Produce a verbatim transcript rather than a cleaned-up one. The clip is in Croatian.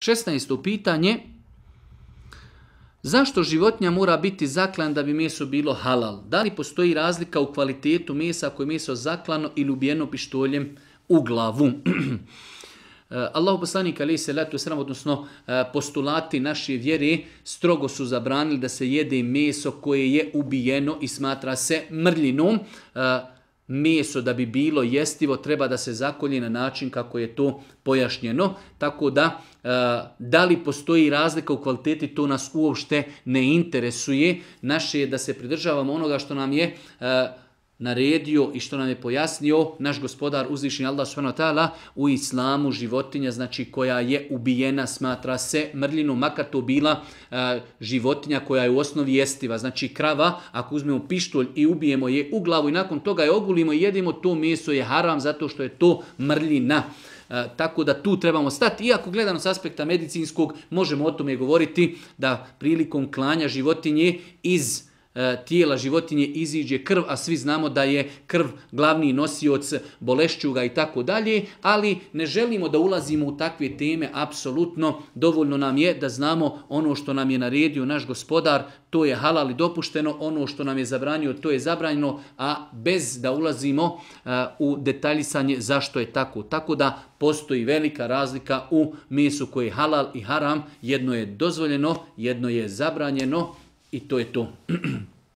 šesnaesto pitanje. Zašto životinja mora biti zaklan da bi meso bilo halal? Da li postoji razlika u kvalitetu mesa ako je meso zaklano ili ubijeno pištoljem u glavu? Allahu poslanik alejhi selatu vesselam, odnosno postulati naše vjere, strogo su zabranili da se jede meso koje je ubijeno i smatra se mrljinom. Meso da bi bilo jestivo treba da se zakolje na način kako je to pojašnjeno. Tako da, da li postoji razlika u kvaliteti, to nas uopšte ne interesuje. Naše je da se pridržavamo onoga što nam je naredio i što nam je pojasnio naš gospodar uzvišeni Allah subhanahu wa ta'ala. U islamu životinja, znači koja je ubijena, smatra se mrljinom, makar to bila uh, životinja koja je u osnovi jestiva. Znači krava, ako uzmemo pištolj i ubijemo je u glavu i nakon toga je ogulimo i jedemo, to meso je haram zato što je to mrljina. Uh, tako da tu trebamo stati. Iako gledano s aspekta medicinskog, možemo o tome govoriti da prilikom klanja životinje iz tijela životinje iziđe krv, a svi znamo da je krv glavni nosioc bolešćuga i tako dalje, ali ne želimo da ulazimo u takve teme, apsolutno dovoljno nam je da znamo ono što nam je naredio naš gospodar, to je halal i dopušteno, ono što nam je zabranio, to je zabranjeno, a bez da ulazimo uh, u detaljisanje zašto je tako. Tako da postoji velika razlika u mesu koje je halal i haram, jedno je dozvoljeno, jedno je zabranjeno, i to je to.